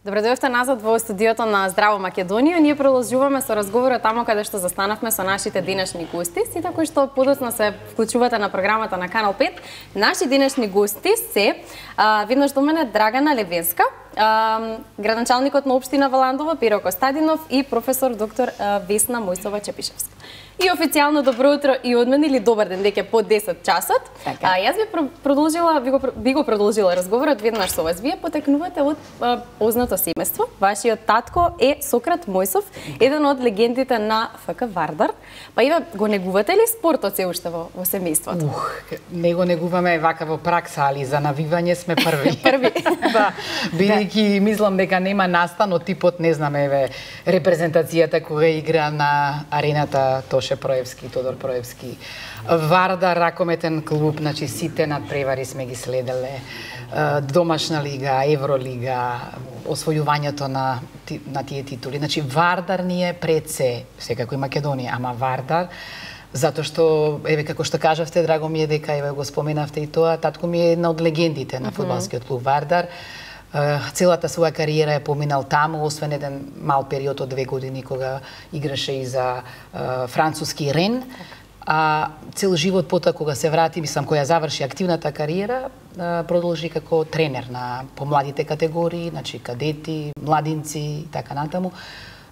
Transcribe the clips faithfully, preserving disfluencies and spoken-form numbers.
Добре дојдовте назад во студиото на Здраво Македонија. Ние продолжуваме со разговорот тамо каде што застанавме со нашите денешни гости, сите кои што подоцна се вклучувате на програмата на Канал пет. Наши денешни гости се а, веднаш до мене Драгана Левенска, а, градоначалникот на општина Валандово Пиро Костадинов и професор доктор а, Весна Мојсова Чепишевска. И официјално добро утро и од мене, или добар ден, дека по десет часот. Така. А, јас би продолжила, би го, би го продолжила разговорот веднаш со вас. Вие потекнувате од а, познато семејство. Вашиот татко е Сократ Мојсов, еден од легендите на ФК Вардар. Па и го негувате ли спортот се уште во, во семејството? Ух, не го негуваме вака во пракса, али за навивање сме први. Први. Да, бидејќи мислам дека нема настан од типот, не знам, еве, репрезентацијата кога игра на арената Тоше Проевски, Тодор Проевски. Вардар, ракометен клуб, значи сите надпревари сме ги следеле. Домашна лига, Евролига, освојувањето на, на тие титули. Значи, Вардар ни е пред се, секако и Македонија, ама Вардар, затоа што, еве, како што кажавте, драго ми е дека, еве, го споменавте и тоа, татко ми е една од легендите на фудбалскиот клуб Вардар. Целата своја кариера е поминал таму, освен еден мал период од две години кога играше и за француски Рен. А цел живот потоа кога се врати, мислам, која заврши активната кариера, продолжи како тренер на помладите категории, значи кадети, младинци и така натаму.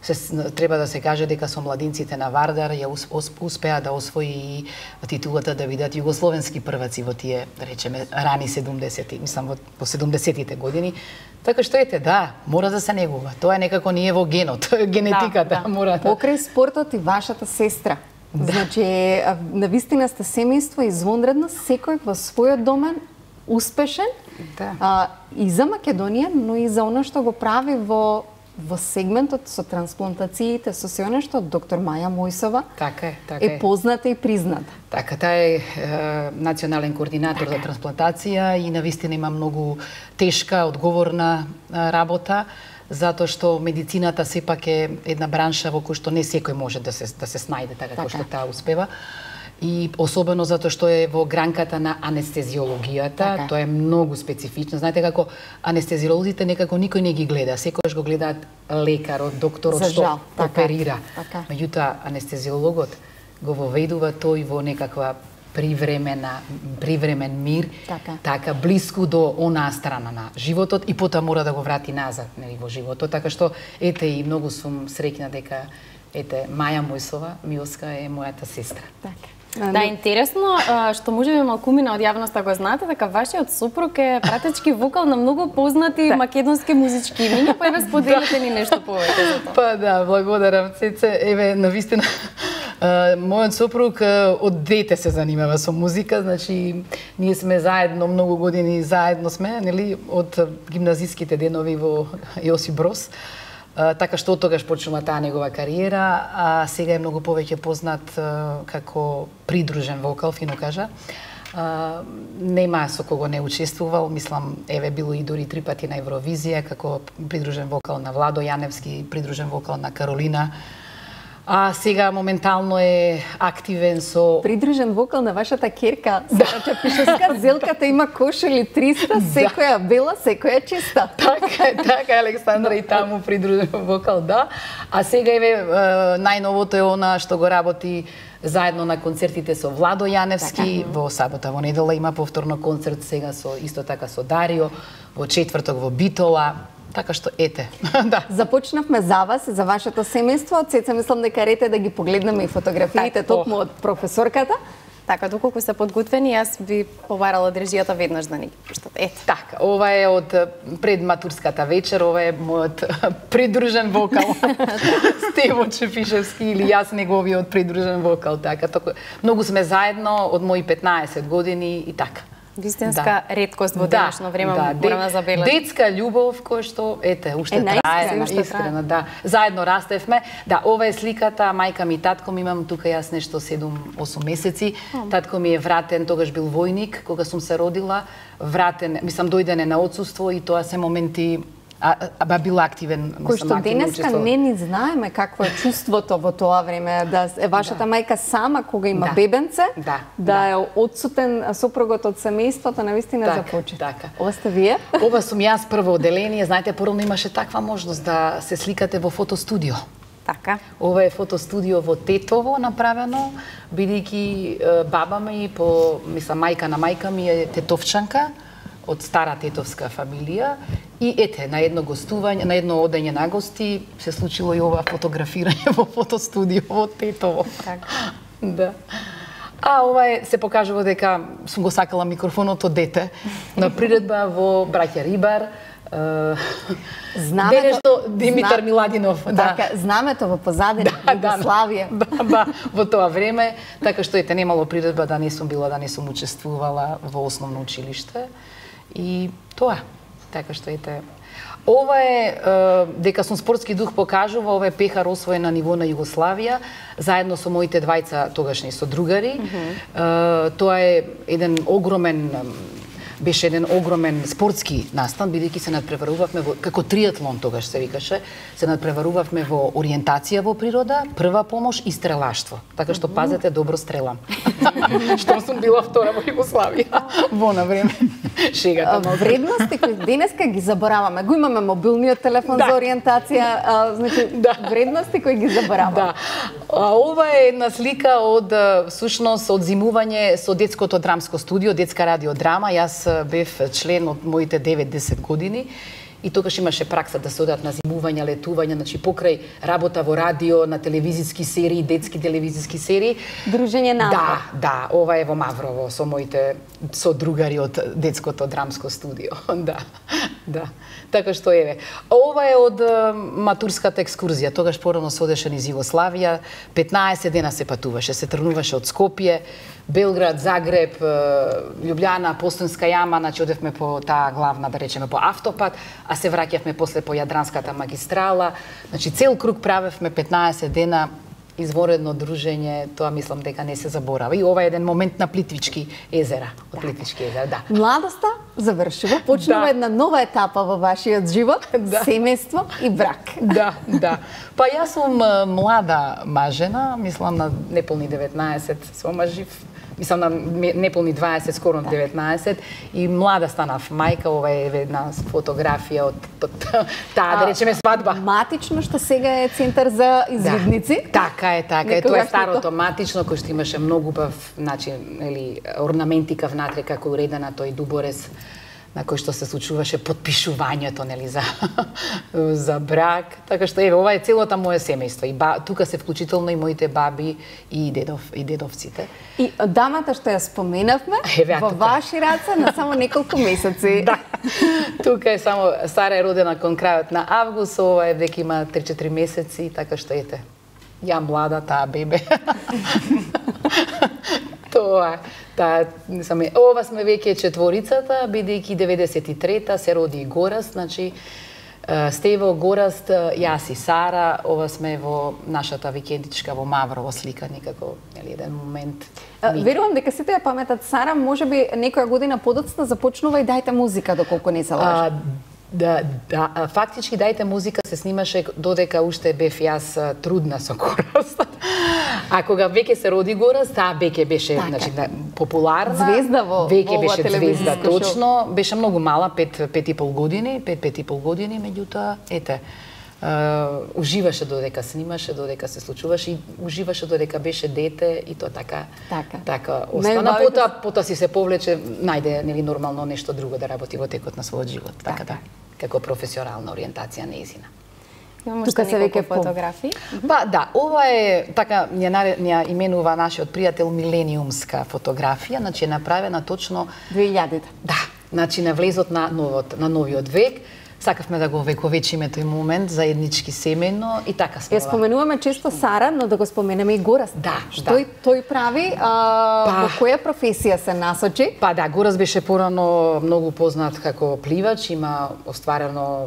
Се, треба да се каже дека со младинците на Вардар ја успеа да освои титулата да бидат југословенски прваци во тие, да речеме, рани седумдесети, мислам во, во седумдесетите години. Така што ете, да, мора да се негува. Тоа е некако ние во генот, генетиката да, да. мора да. Покрај спортот и вашата сестра. Да. Значи, навистина сте семејство извонредно, секој во својот домен успешен. Да. А, и за Македонија, но и за она што го прави во во сегментот со трансплантациите, со се она што доктор Маја Мојсова така е, така е. е позната и призната. Така, таа е, е национален координатор така. за трансплантација и навистина има многу тешка, одговорна работа, затоа што медицината сепак е една бранша во која што не секој може да се да се снајде така, така. како што таа успева. И особено затоа што е во гранката на анестезиологијата, така. Тоа е многу специфично. Знаете како анестезиолозите некако никој не ги гледа, секогаш го гледаат лекарот, докторот За што жал, така. оперира. Така. Меѓутоа анестезиологот го воведува тој во некаква привремена привремен мир, така. така блиску до онаа страна на животот и потоа мора да го врати назад, нели, во животот, така што ете и многу сум среќна дека ете Маја Мојсова, Милска е мојата сестра. Така. Да, интересно, што можеби малкумина од јавноста го знаете, дека вашиот сопруг е пратечки вокал на многу познати македонски музички имиња, па еве споделете ни нешто повеќе за тоа. Па да, благодарам, Цеце. Еве, навистина, мојот сопруг од дете се занимава со музика, значи ние сме заедно многу години, заедно сме, нели, од гимназиските денови во Јосип Брос. Uh, така што од тогаш почнува таа негова кариера, а сега е многу повеќе познат uh, како придружен вокал, фино кажа. Uh, нема со кого не учествувал, мислам, еве било и дури три пати на Евровизија, како придружен вокал на Владо Јаневски, придружен вокал на Каролина. А сега моментално е активен со придружен вокал на вашата керка, Сара Чепишевска. Зелката има кошели триста, секоја бела, секоја чиста. Така е, така е, Александра, и таму придружен вокал, да. А сега еве најновото е она што го работи заедно на концертите со Владо Јаневски, така. Во сабота, во недела има повторно концерт сега со исто така со Дарио, во четврток во Битола. Така што ете. Да. Започнавме за вас, за вашето семејство. Од сеца мислам дека рете да ги погледнеме и фотографиите токму од професорката. Така, доколку се подготвени, јас би побарала држијата веднаш да ни ги пуштат. Ете. Така, ова е од предматурската вечер, ова е мојот придружен вокал. Стево Чепишевски или јас неговиот придружен вокал, така. Току, многу сме заедно од мои петнаесет години и така. Вистинска да. реткост во денешно време, да, морам да забележам. Детска љубов која што ете уште е, трае, уште искрено, да. Заедно растевме. Да, ова е сликата, мајка ми и татко ми, имам тука јас нешто седум-осум месеци. Oh. Татко ми е вратен, тогаш бил војник кога сум се родила, вратен, мислам дојдене на отсуство и тоа се моменти а, а била активен, кој што денеска не ни знаеме какво е чувството во тоа време, да е вашата да. мајка сама кога има да. бебенце, да, да, да е одсутен сопругот од семејството, навистина так, за почет. Така. Ова сте вие? Ова сум јас прво оделение, знаете, порано имаше таква можност да се сликате во фотостудио. Така. Ова е фотостудио во Тетово направено, бидејќи баба ми, по, мислам, мајка на мајка ми е тетовчанка, од стара тетовска фамилија, и ете, на едно гостување, на едно одење на гости се случило и ова фотографирање во фотостудио во Тетово. Така. Да. А ова е, се покажува дека сум го сакала микрофонот од дете на приредба во Браќа Рибар. Знамето, денешно Димитар зна... Миладинов, да. Така, знамето во позадина, да, Југославија. Да, да, во тоа време, така што ете немало приредба да не сум била, да не сум учествувала во основно училиште. И тоа, така што ете, ова е, дека сум спортски дух покажува, ова е пехар освоен на ниво на Југославија, заедно со моите двајца тогашни содругари. Mm -hmm. Тоа е еден огромен, беше еден огромен спортски настан, бидејќи се надпреварувавме во, како триатлон тогаш се викаше, се надпреварувавме во ориентација во природа, прва помош и стрелаштво. Така што пазете, добро стрелам. Што сум била втора во Југославија во на време. Шегата. Вредности кои денеска ги забораваме. Го имаме мобилниот телефон да. за ориентација, а, значи да. вредности кои ги забораваме. Да. А ова е една слика од всушност од зимување со детското драмско студио, детска радиодрама. Јас бев член од моите девет-десет години и тогаш имаше пракса да се одат на зимување, летување, значи покрај работа во радио, на телевизиски серии, детски телевизиски серии. Дружење на Да, да, ова е во Маврово со моите содругари од детското драмско студио. Да. Да. Така што еве. Ова е од матурската екскурзија. Тогаш порано се одеше низ Југославија, петнаесет дена се патуваше, се тргнуваше од Скопје, Белград, Загреб, Љубљана, Постонска јама, значи одевме по таа главна, да речеме, по автопат, а се враќавме после по Јадранската магистрала. Значи цел круг правевме петнаесет дена, изворедно дружење, тоа мислам дека не се заборава. И ова е еден момент на Плитвички езера, од Плитвички езера, да. Младоста завршува, почнува да. една нова етапа во вашиот живот, да. семејство и брак. Да, да. Па јас сум млада мажена, мислам на неполни деветнаесет се омажив. Мислам на неполни дваесет, скоро на деветнаесет, и млада станав мајка. Ова е една фотографија од, од таа, да речеме, свадба. Матично, што сега е центар за извидници. Да, така е, така е. Тоа е старото матично, кој што имаше многу бав, значи, нели, орнаментика внатре, како уредена, тој дуборез, на кој што се случуваше подпишувањето, нели, за за брак. Така што еве, ова е целото мое семејство. И ба, тука се вклучително и моите баби и дедов и дедовците. И дамата што ја споменавме, еве, во тука. Ваши раце на само неколку месеци. Да. Тука е само, Сара е родена кон крајот на август, ова е дека има три-четири месеци, така што ете. Ја млада, таа бебе. Тоа, таа, саме, ова сме веќе четворицата, бидејќи деветдесет и трета се роди и Гораст, значи Стево, Гораст, јас и Сара, ова сме во нашата викендичка во Маврово слика, некако, нели, еден момент. Верувам дека сите ја паметат Сара, можеби некоја година подоцна започнува и Дајте музика, доколку не се лажам. Да, да, фактички Дајте музика се снимаше додека уште бев јас трудна со Гораст. А кога веќе се роди Гораст, таа веќе беше, така. значи, популарна. Звезда во веќе беше звезда, точно. Беше многу мала, пет, пет и пол години, пет, пет и пол години, меѓутоа, ете, Uh, уживаше додека снимаше, додека се случуваше и уживаше додека беше дете и тоа така така, така остана. Потоа потоа си се повлече, најде нели нормално нешто друго да работи во текот на својот живот, така, така да, како професионална ориентација нејзина. Имаме тука се веќе фотографии. Па да, ова е така ја ја именува нашиот пријател милениумска фотографија, значи е направена точно две илјади. Да, значи на влезот на новот на новиот век. Сакавме да го вековечиме тој момент заеднички семејно и така сме. Ја споменуваме често Сара, но да го споменеме и Гораст. Да, што да. тој прави, а, па, во која професија се насочи? Па да, Гораст беше порано многу познат како пливач, има остварено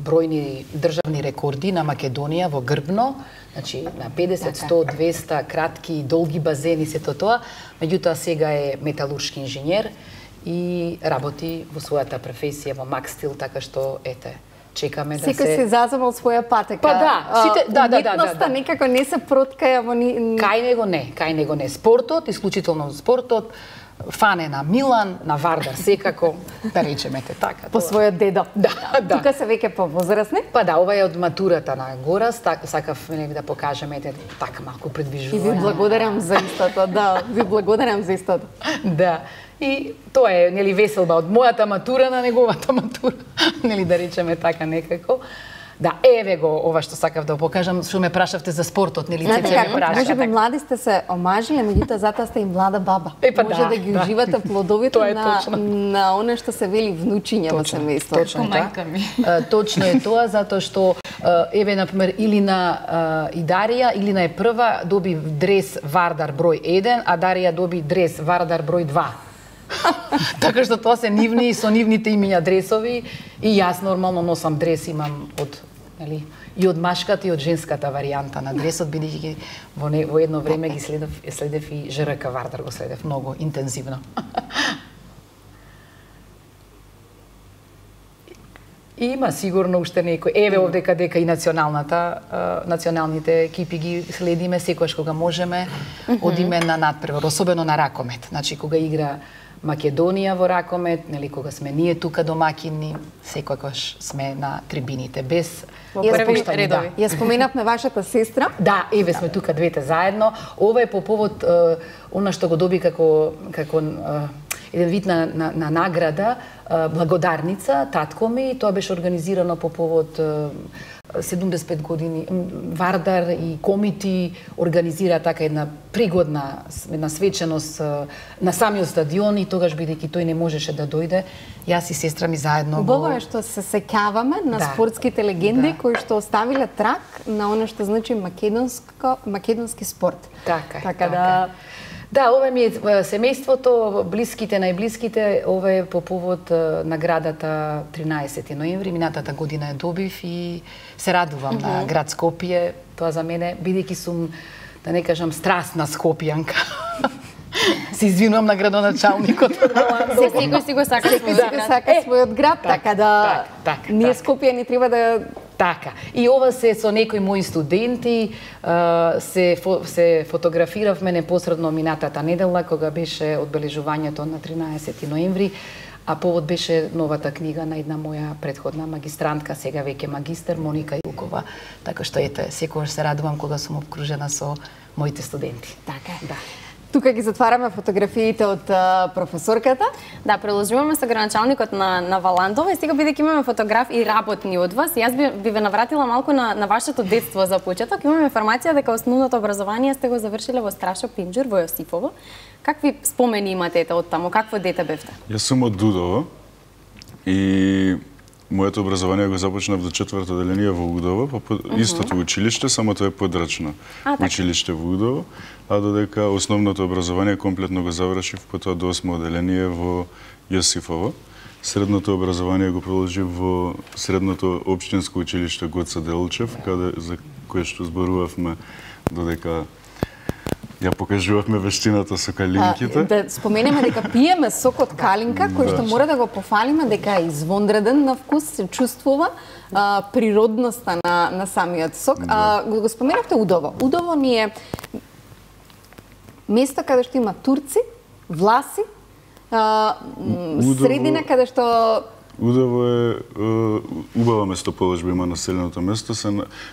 бројни државни рекорди на Македонија во грбно, значи на педесет, сто, двеста кратки и долги базени, сето тоа. Меѓутоа сега е металуршки инженер и работи во својата професија во Макстил, така што ете, чекаме да се... Секој се заземал своја патека. Па да, сите, да, да, да, да, да. некако не се проткаја во ни... Кај него не, кај него не. Спортот, исклучително спортот, фане на Милан, на Вардар секако, да речеме те така. По својот дедо. Да, да. Тука се веќе повозрасни? Па да, ова е од матурата на Горас, так, сакав нели да покажеме ете така малку предвижување. И ви благодарам за истото, да, ви благодарам за истото. Да. И тоа е нели веселба од мојата матура на неговата матура, нели да речеме така некако. Да, еве го ова што сакав да покажам, што ме прашавте за спортот, нели Цеце ме праша. Може би млади сте се омажиле, меѓутоа затоа сте и млада баба. Е, па Може да, да ги да. уживате плодовите на точно. на она што се вели внучиња во семејството. Точно така. Точно е тоа затоа што еве на пример Илина и Дарија, Илина е прва, доби дрес Вардар број еден, а Дарија доби дрес Вардар број два. Така што тоа се нивни со нивните имиња дресови и јас нормално носам дрес, имам од нели и од машката и од женската варијанта на дресот, бидејќи во, не, во едно време ги следев следев и ЖРК Вардар, го следев многу интензивно. И има сигурно уште некој. Еве овдека дека и националната, националните екипи ги следиме секогаш кога можеме, одиме на надпревар, особено на ракомет. Значи кога игра Македонија во ракомет, нели кога сме ние тука домаќини, секогаш сме на трибините без први редови. Ја споменавме вашата сестра. Да, еве сме тука двете заедно. Ова е по повод е, она што го доби како како е, еден вид на, на, на награда, е, благодарница, татко ми, тоа беше организирано по повод е, седумдесет и пет години Вардар и комити организира така една пригодна една свеченост на самиот стадион и тогаш бидејќи тој не можеше да дојде, јас и сестра ми заедно Убаво го... е што се сеќаваме на да. спортските легенди да. кои што оставиле трак на она што значи македонско македонски спорт. Така, така така. да Да, ова ми е семејството, блиските, најблиските, ова е по повод наградата тринаесети ноември, минатата година ја добив и се радувам mm -hmm. на град Скопје, тоа за мене, бидејќи сум, да не кажам, страстна скопјанка. Се извинувам на градоначалникот. Секој си го сака својот град. сака својот град, така да так, ние так. Скопјани треба да Така. И ова се со некои мои студенти, се фо, се фотографиравме непосредно минатата недела кога беше одбележувањето на тринаесети ноември, а повод беше новата книга на една моја претходна магистрантка, сега веќе магистер, Моника Илкова. Така што ете, секогаш се радувам кога сум обкружена со моите студенти. Така да. Тука ги затвараме фотографиите од uh, професорката. Да, продолжуваме со граначалникот на, на Валандова и сега бидејќи имаме фотограф и работни од вас, јас би, би ве навратила малку на, на вашето детство за почеток. Имаме информација дека основното образование сте го завршиле во Страшо Пинџур во Јосифово. Какви спомени имате од таму? Какво дете бевте? Јас сум од Дудово и моето образование го започнав до четврто оделение во Удово, по uh -huh. истото училиште, само тоа е подрачно а, училиште во Удово, а додека основното образование комплетно го завршив потоа до осмо оделение во Јосифово. Средното образование го продолжив во средното општинско училиште Гоце Делчев, каде за кое што зборувавме додека ја покажувавме вештината со калинките. А, да споменеме дека пиеме сок од калинка, кој што мора да го пофалиме дека е извонреден на вкус, се чувствува а, природноста на, на самиот сок. А, го, го споменавте Удово. Удово ни е место каде што има турци, власи, а, Удово... средина каде што Удово е, е убава местоположба има населеното место. Се,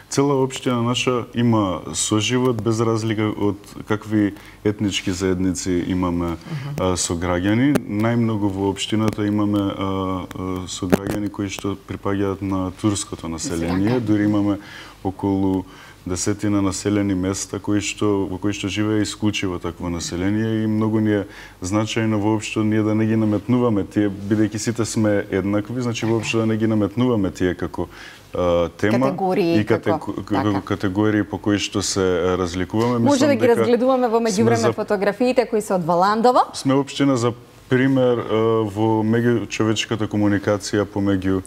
цела општина наша има соживот без разлика од какви етнички заедници имаме uh -huh. а, со граѓани. Најмногу во општината имаме а, а, со граѓани кои што припаѓаат на турското население. Дури имаме околу десетина населени места кои што во кои што живее исклучиво такво население и многу ни е значајно воопшто ние да не ги наметнуваме тие, бидејќи сите сме еднакви, значи воопшто да не ги наметнуваме тие како а, тема категории, и кате, како, како категории по кои што се разликуваме. Може Мислам, да ги разгледуваме во меѓувреме за... фотографиите кои се од Валандово. Сме општина за пример а, во меѓучовечката комуникација помеѓу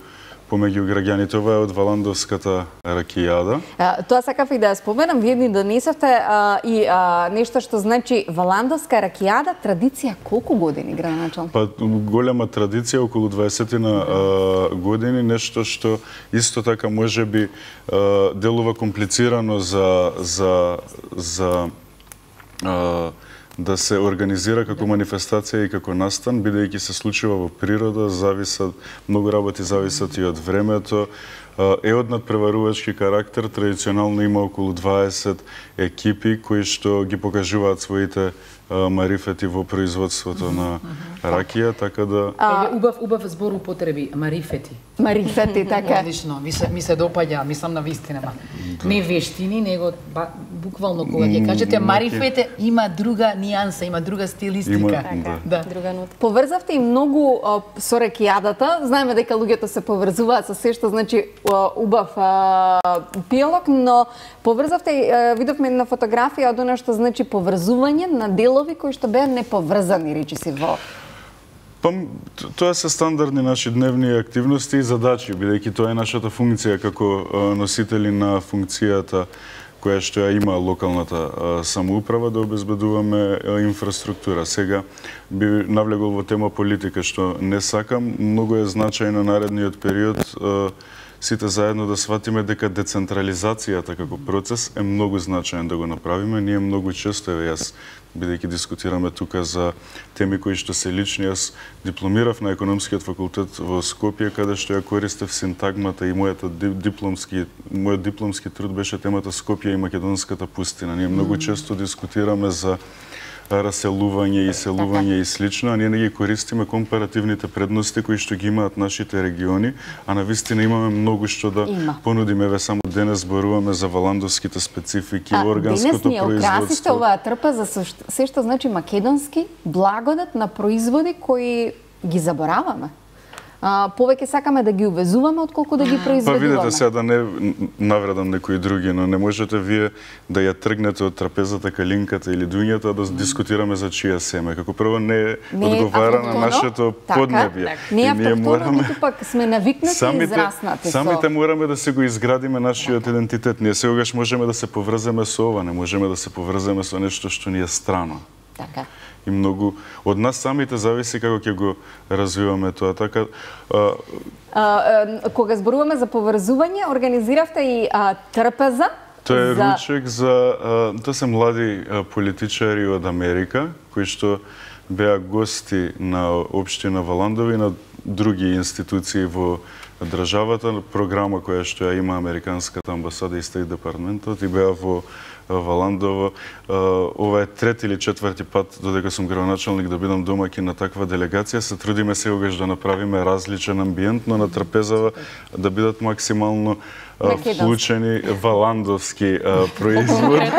помеѓу граѓаните. Ова е од Валандовската ракијада. А, тоа сакав и да ја споменам, вие ни донесовте а, и а, нешто што значи Валандовска ракијада, традиција колку години, градоначалник? Па голема традиција, околу дваесет а, години, нешто што исто така можеби а, делува комплицирано за за за а, да се организира како манифестација и како настан, бидејќи се случува во природа, зависат, многу работи зависат и од времето. Е од надпреварувачки карактер, традиционално има околу дваесет екипи кои што ги покажуваат своите марифети во производството на ракија, така да... А, убав, убав збор употреби, марифети. Марифети, така. Одлично, ми се, ми се допаѓа, мислам на вистина. Да. Не вештини, него ба, буквално кога ќе кажете марифете, има друга нијанса, има друга стилистика. Има, така, да. Друга нота. Поврзавте и многу а, со ракијадата. Знаеме дека луѓето се поврзуваат со се што значи а, убав а, пијалок, но поврзавте и видовме на фотографија од она што значи поврзување на делови кои што беа неповрзани, речиси во... Па, тоа се стандардни наши дневни активности и задачи, бидејќи тоа е нашата функција како носители на функцијата која што ја има локалната самоуправа, да обезбедуваме инфраструктура. Сега би навлегол во тема политика, што не сакам. Многу е значајно наредниот период сите заедно да сватиме дека децентрализацијата како процес е многу значаен да го направиме. Ние многу често, еве јас, бидејќи дискутираме тука за теми кои што се лични, јас дипломирав на економскиот факултет во Скопје, каде што ја користев синтагмата и мојата дипломски, мојот дипломски труд беше темата Скопје и македонската пустина. Ние многу често дискутираме за раселување и селување и слично, а ние не ги користиме компаративните предности кои што ги имаат нашите региони, а навистина имаме многу што да Има. понудиме. Еве само денес зборуваме за валандовските специфики, а, органското производство. Денес ни украсите оваа трпа за се што значи македонски благодат на производи кои ги забораваме. А, повеќе сакаме да ги увезуваме отколку да ги произведуваме. Па видете сега, да не навредам некои други, но не можете вие да ја тргнете од трапезата калинката или дуњата да дискутираме за чија семе. Како прво не, не одговара на нашето така, поднебје. Так. Не е автохтоно, ниту пак сме навикнати самите, и израснати. Самите со... мораме да се го изградиме нашиот така. идентитет. Ние сегогаш можеме да се поврземе со ова, не можеме да се поврземе со нешто што ни е страно. Така. И многу од нас самите зависи како ќе го развиваме тоа. Така а... А, а, кога зборуваме за поврзување, организиравте и а, трпеза. Тоа е за... ручек за а, тоа се млади а, политичари од Америка кои што беа гости на општина Валандови и на други институции во државата, програма која што ја има Американската амбасада и Стейт департментот, и беа во Валандово. Ова е трети или четврти пат додека сум градоначалник да бидам домаќин на таква делегација. Се трудиме сегогаш да направиме различен амбиент, но на трапезава да бидат максимално вклучени валандовски производи.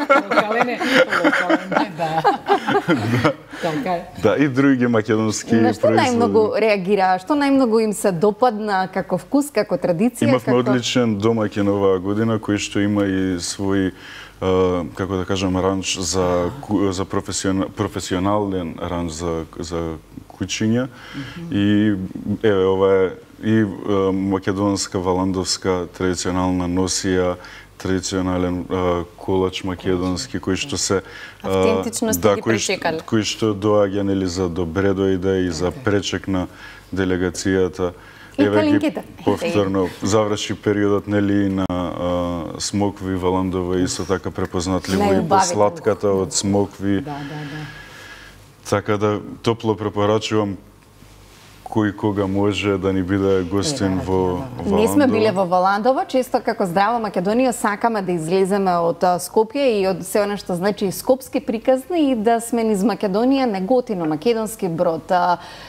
Локален, локален, да. Да, и други македонски производи. На што најмногу реагира? Што најмногу им се допадна како вкус, како традиција? Имавме како... одличен домаќин оваа година, кој што има и свој, како да кажам, ранч за, за професионал, професионален ранч за, за кучиња. Mm-hmm. И еве, ова е и македонска, валандовска традиционална носија, традиционален а, колач македонски кој што се автентичност да, ги пречекале. Кој што доаѓа нели за добре дојде и за пречек на делегацијата. И калинките. Повторно заврши периодот нели на а, смокви Валандова и со така препознатливо и по сладката од смокви. Да, да, да. Така да топло препорачувам кој кога може да ни биде гостин во Валандово. Не сме биле во Валандово, често како Здрава Македонија сакаме да излеземе од Скопје и од се она што значи скопски приказни и да сме низ Македонија, Неготино, Македонски Брод,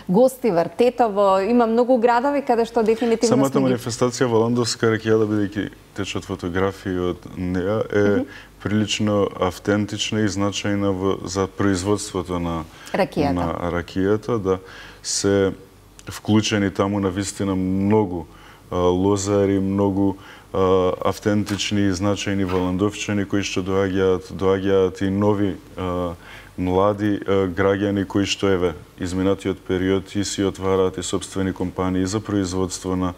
гости Вртетово, има многу градови каде што дефинитивно самата сме ги... манифестација Валандовска ракијада, бидејќи течат фотографии од неа, е mm -hmm. прилично автентична и значајна во, за производството на ракијата. на ракијата, да се вклучени таму на вистина многу лозари, многу автентични и значајни валандовчани кои што доаѓаат, доаѓаат и нови млади граѓани кои што еве изминатиот период и си отвараат и собствени компании за производство на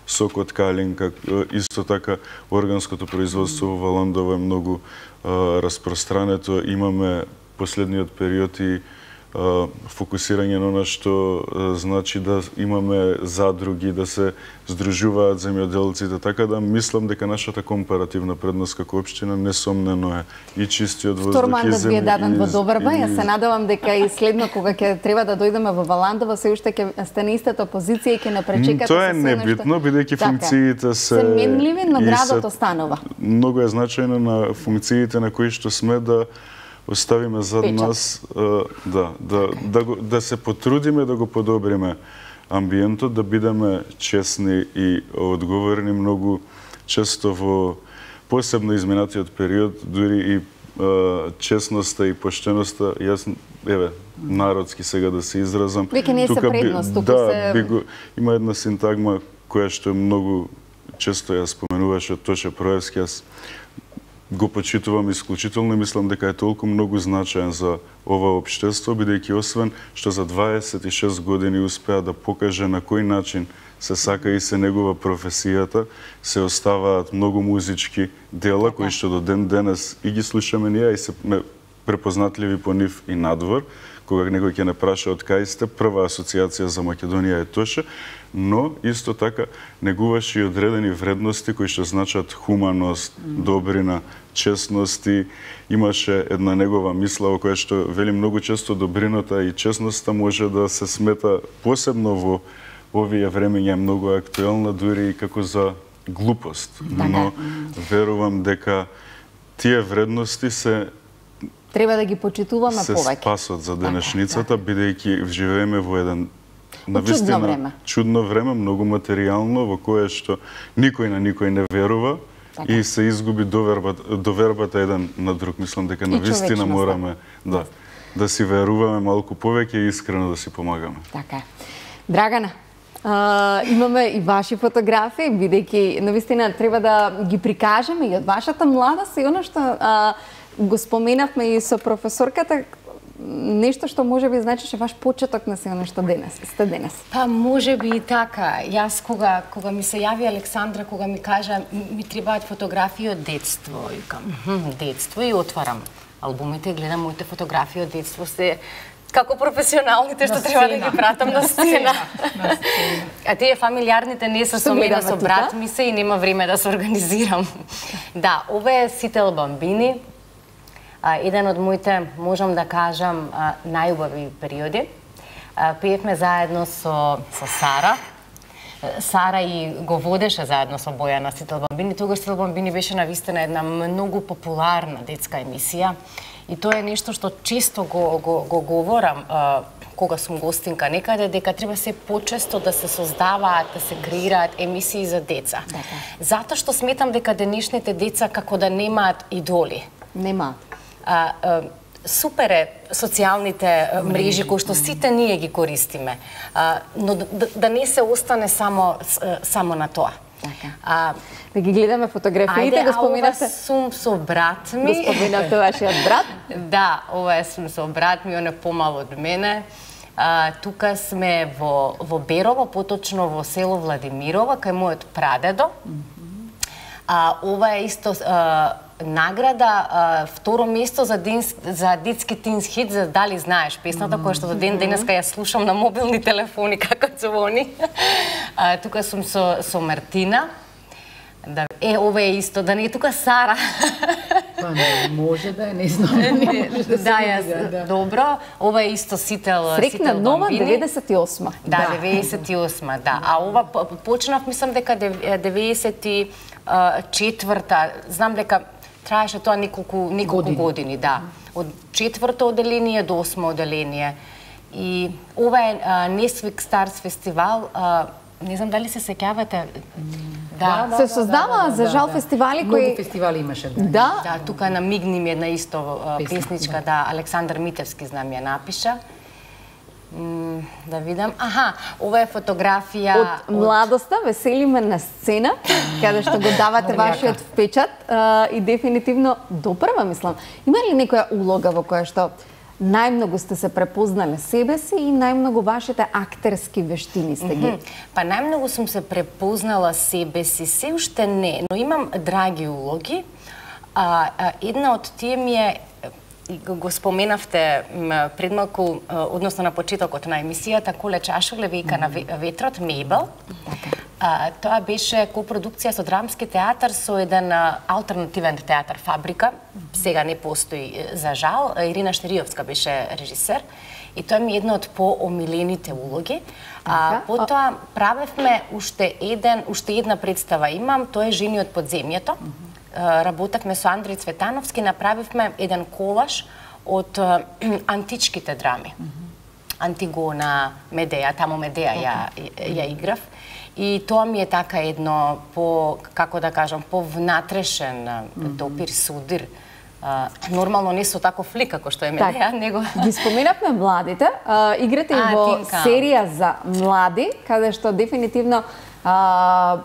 сок од калинка, исто така органското производство во Валандово е многу распространето. Имаме последниот период и фокусирање на она што значи да имаме задруги, да се здружуваат земјоделците, така да мислам дека нашата компаративна предност како општина несомнено е и чистиот воздух и земја. Втор мандат ви е даден во Добрба, јас се надевам дека и следно кога ќе треба да дојдеме во Валандово, се уште ќе сте на истата позиција и ќе напречекате. Тоа е небитно, бидејќи функциите се се менливи, но градот останува. Многу е значајно на функциите на кои што сме да оставиме зад нас, да, да, да, го, да се потрудиме да го подобриме амбиентот, да бидеме честни и одговорни. Многу често во посебно изминатиот период, дури и честноста и поштеноста, јас, еве, народски сега да се изразам. Веќе не се предност, туку да, се... би го, има една синтагма која што е многу често ја споменуваше Тоше Проевски, јас го почитувам исклучително и мислам дека е толку многу значаен за ова општество, бидејќи освен што за дваесет и шест години успеа да покаже на кој начин се сака и се негува професијата, се оставаат многу музички дела кои што до ден денес и ги слушаме ние и се препознатливи по нив и надвор. Кога некој ќе не праша од кај сте, прва асоциација за Македонија е Тоше, но исто така негуваше и одредени вредности кои што значат хуманост, добрина, честност и имаше една негова мисла во која што вели многу често добрината и честноста може да се смета посебно во овие времења многу актуелна дури и како за глупост. Но верувам дека тие вредности се треба да ги почитуваме се повеќе. Се спасот за денешницата, бидејќи живееме во еден навистина чудно време. чудно време, многу материјално, во кое што никој на никој не верува така. И се изгуби довербата, довербата еден на друг. Мислам дека навистина мораме да, да си веруваме малку повеќе и искрено да си помагаме. Така е. Драгана, а, имаме и ваши фотографии, бидејќи навистина треба да ги прикажеме и од вашата младост и она што а, го споменавме и со професорката, нешто што може би значеше ваш почеток на се што денес, сте денес. Па може би и така. Јас кога кога ми се јави Александра, кога ми кажа ми требаат фотографии од детство, викам, детство и отварам албумите, гледам моите фотографии од детство, се како професионалните што треба да ги пратам на сцена. А тие фамилиарните не се со мене, со брат ми се и нема време да се организирам. Да, ова е Сител Бамбини. Еден од моите, можам да кажам, најубави периоди. Пеевме заедно со, со Сара. Сара и го водеше заедно со Бојана Сител Бамбини. Тогаш Сител Бамбини беше навистина една многу популарна детска емисија. И тоа е нешто што често го, го, го говорам кога сум гостинка некаде, дека треба се почесто да се создаваат, да се креираат емисии за деца. Затоа што сметам дека денешните деца како да немаат идоли. Нема. А, а, супер е социјалните мрежи кои што сите ние ги користиме, а, но да, да не се остане само само на тоа. Така. А, да ги гледаме фотографиите, го споменавте. Ајде, сум со брат ми. Го споменавте вашиот брат? Да, ова е сум со брат ми, он е помал од мене. А, тука сме во во Берово, поточно во село Владимирово, кај мојот прадедо. А, ова е исто а, награда, а, второ место за, ден, за детски тинс хит, за Дали знаеш песната, која што до ден денеска ја слушам на мобилни телефони како звони. А, тука сум со, со Мартина. Да, е, ова е исто, да не е тука Сара. Па не, може да е, не знам. Не, да, да, јас, да. Добро. Ова е исто Сител, Срекна нова деветдесет и осма. Да, да, деветдесет и осма, да. А ова почнав, мислам дека деветдесет и четврта, знам дека траеше тоа неколку, неколку години. години, да. Од четврто оделение до осмо оделение. И ова е Несвик Старс фестивал, а, не знам дали се сеќавате. Да, да, се создава да, за жал да, фестивали да. кои Многу фестивали имаше. Да. Да, да, тука намигни ми една исто песничка, да. да, Александар Митевски знам ја напиша. Да видам. Аха, ова е фотографија од младоста, веселиме на сцена, каде што го давате вашиот впечат а, и дефинитивно допрва, мислам. Има ли некоја улога во која што најмногу сте се препознале себе си и најмногу вашите актерски вештини сте ги? Па најмногу сум се препознала себе си, се уште не, но имам драги улоги. А, а, една од тие ми е, го споменавте пред малку, односно на почетокот на емисијата, Коле Чашуле, Вејка на ветрот, Мебел. А, тоа беше копродукција со драмски театар со еден алтернативен театар Фабрика. Сега не постои за жал. Ирина Штериовска беше режисер. И тоа ми е една од поомилените улоги. А, потоа правевме уште еден, уште една представа имам, тоа е Жени од подземјето. Работевме со Андреј Цветановски, направивме еден колаж од античките драми. Антигона, Медеја, таму Медеја ја, ја играв. И тоа ми е така едно по, како да кажам, по внатрешен допир, судир. Uh, нормално не со таков лик како што е Медеја, него... Ги споменавме младите, uh, играте и во тинка. Серија за млади, каде што дефинитивно uh,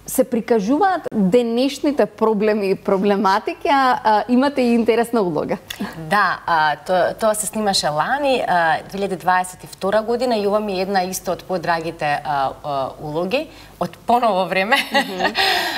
се прикажуваат денешните проблеми и проблематики, а, а имате и интересна улога. Да, а, то, тоа се снимаше лани, а, две илјади дваесет и втора година, и ова ми е една исто од подрагите а, а, улоги, од поново време, mm -hmm.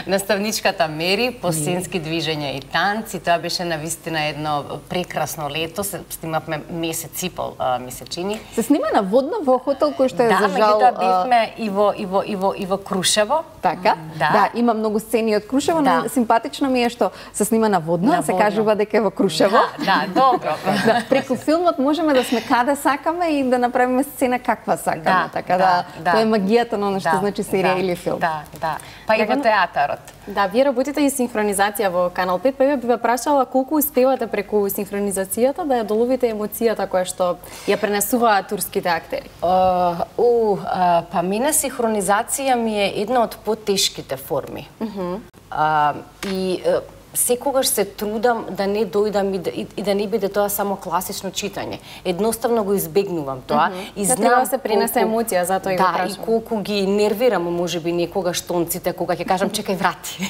наставничката Мери, по сценски движења и танци. Тоа беше навистина едно прекрасно лето, се снимавме месец и пол, а, ми се чини. Се снима на водно во хотел кој што е да, за жал... Да, меѓутоа бевме и во, и во, и во, и во Крушево. Така? Да. Да, има многу сцени од Крушево, да. Но симпатично ми е што се снима на водно, а се водно. Кажува дека е во Крушево. Да, да, добро. Да, преку филмот можеме да сме каде сакаме и да направиме сцена каква сакаме, да, така да, да тоа е магијата на она што да, значи серија да, или филм. Да, да. Па и во театарот. Да, вие работите и синхронизација во Канал пет, па ја би ве прашала колку успевате преку синхронизацијата да ја доловите емоцијата која што ја пренесуваат турските актери? Uh, uh, uh, па мене синхронизација ми е една од потешките форми. Uh -huh. uh, и uh, секогаш се трудам да не дојдам и да, и, и да не биде тоа само класично читање. Едноставно го избегнувам тоа. Mm -hmm. И знам да се принесе колку... емоција, затоа и да, го прашам. Да, и колку ги нервирам можеби некогаш тонците, кога ќе кажам чекај врати.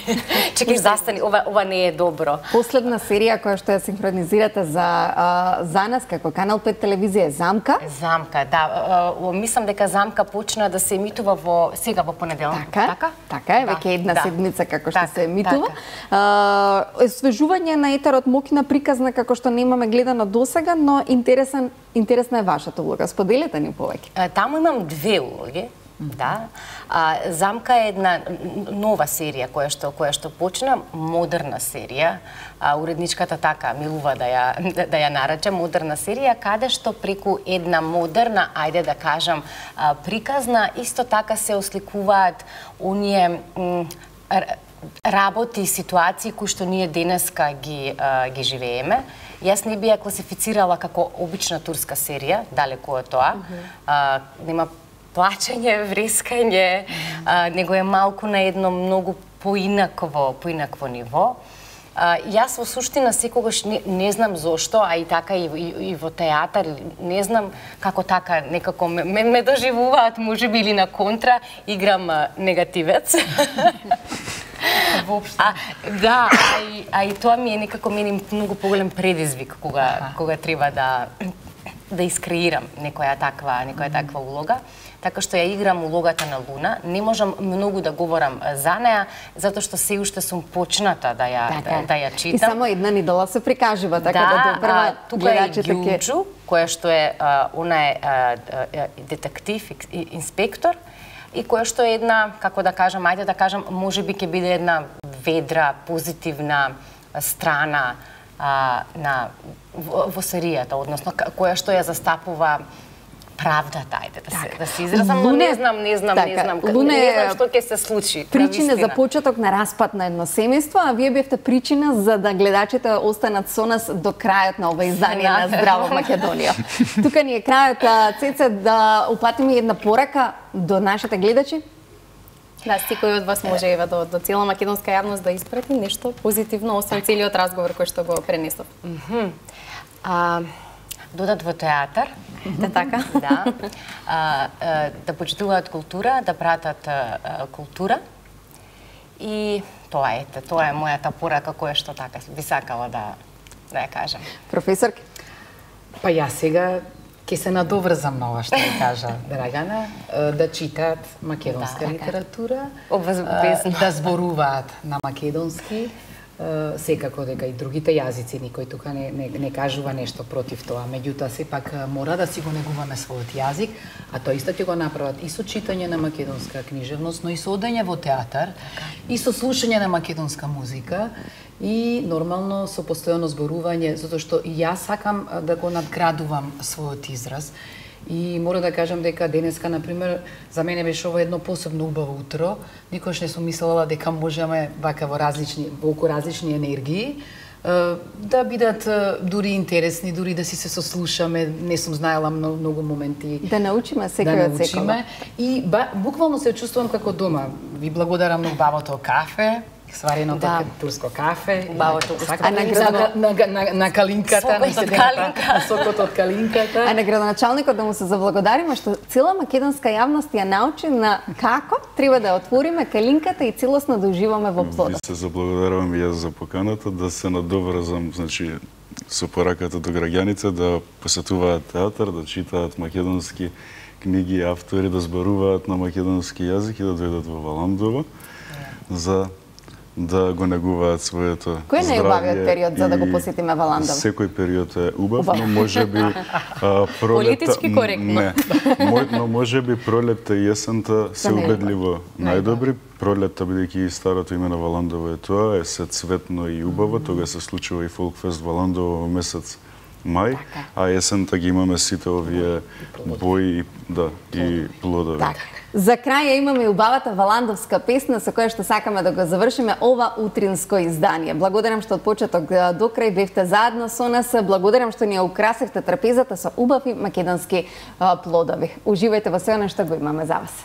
Чекај застани, ова ова не е добро. Последна серија која што ја синхронизирате за а, за нас како Канал пет телевизија е Замка. Замка, да. А, мислам дека Замка почна да се емитува во сега во понеделник. Така, така, така е, да, веќе една да. седмица како што така, се емитува. Така. Освежување на етерот, мокина приказна како што немаме гледано досега, но интересен интересна е вашата улога. Споделете ни повеќе. Таму имам две улоги. Mm -hmm. Да. А, Замка е една нова серија која што која што почна, модерна серија. А, уредничката така милува да ја да, да ја нарече модерна серија, каде што преку една модерна, ајде да кажам, а, приказна, исто така се осликуваат оние работи и ситуации кои што ние денеска ги а, ги живееме. Јас не би ја класифицирала како обична турска серија, далеку од тоа. Mm -hmm. а, нема плачење, врескање, а, него е малку на едно многу поинакво, поинакво ниво. А, јас во суштина секогаш не, не знам зошто, а и така и, и, и во театар, не знам како така некако ме, ме, ме доживуваат, можеби или на контра, играм а, негативец. А, да, а и, а и тоа ми е некако мене многу поголем предизвик кога ага. кога треба да да искреирам некоја таква некоја таква улога. Така што ја играм улогата на Луна. Не можам многу да говорам за неа, затоа што се уште сум почната да ја така. да, да ја читам. И само една недела се прикажува, така да, да допрва гледачите ке. Јуџу, која што е а, она е а, а, детектив и инспектор, и која што е една, како да кажам, ајде да кажам, можеби ќе биде една ведра, позитивна страна а, на во, во серијата, односно која што ја застапува правдата, ајде да се, да се изразам, но не знам, не знам, така, не знам, Луне, не знам што ќе се случи. Причина за почеток на распад на едно семејство, а вие бевте причина за да гледачите останат со нас до крајот на ова издание на Здраво Македонија. Тука ни е крајот, Цеце, да упатиме една порака до нашите гледачи. Да, секој од вас може ева до, до цела македонска јавност да испрати нешто позитивно, освен целиот разговор кој што го пренесов. Mm -hmm. а, додат во театар. Те така? Да. А, а, да почитуваат култура, да пратат а, култура. И тоа ете, тоа е мојата порака која што така би сакала да да ја кажам. Професорке? Па јас сега ќе се надоврзам на ова што ја кажа Драгана, да читаат македонска Да, литература, Обвезно. да зборуваат на македонски, секако дека и другите јазици, никој тука не, не, не кажува нешто против тоа, меѓутоа сепак мора да си го негуваме својот јазик, а тоа исто ќе го направат и со читање на македонска книжевност, но и со одење во театар, и со слушање на македонска музика, и нормално со постојано зборување, затоа што и јас сакам да го надградувам својот израз. И мора да кажам дека денеска, например, за мене беше ова едно посебно убаво утро. Никош не сум мислела дека можеме вака во различни, во околу различни енергии, да бидат дури интересни, дури да си се сослушаме. Не сум знаела многу, многу моменти. Да научиме секој да од секој. И ба, буквално се чувствувам како дома. Ви благодарам на убавото кафе, свареното Да. турско кафе, Убавото а на, на, на, на, на калинката, Сокот на од седемте- калинка. на сокот од калинката. А на градоначалникот да му се заблагодариме што цела македонска јавност ја научи на како треба да отвориме калинката и целосно да уживаме во Ви плодот. се заблагодарувам и јас за поканата, да се надоврзам, значи, со пораката до граѓаните да посетуваат театар, да читаат македонски книги, автори, да зборуваат на македонски јазик и да дојдат во Валандово за да го негуваат своето Кој е најубавиот здравје период за да го и посетиме Валандово? Секој период е убав, Убав. но можеби а, пролета... Политички коректно. Не, Мо- но можеби пролетта и есента се Да не е убедливо најдобри. Пролетта, бидејќи и старото име на Валандово е тоа, е се цветно и убаво, тога се случува и Фолкфест Валандово во месец мај, а есента ги имаме сите овие бои, да, и плодови. Така. За крај ја имаме и убавата валандовска песна со која што сакаме да го завршиме ова утринско издание. Благодарам што од почеток до крај бевте заедно со нас. Благодарам што ни ја украсивте трапезата со убави македонски а, плодови. Уживајте во се она што го имаме за вас.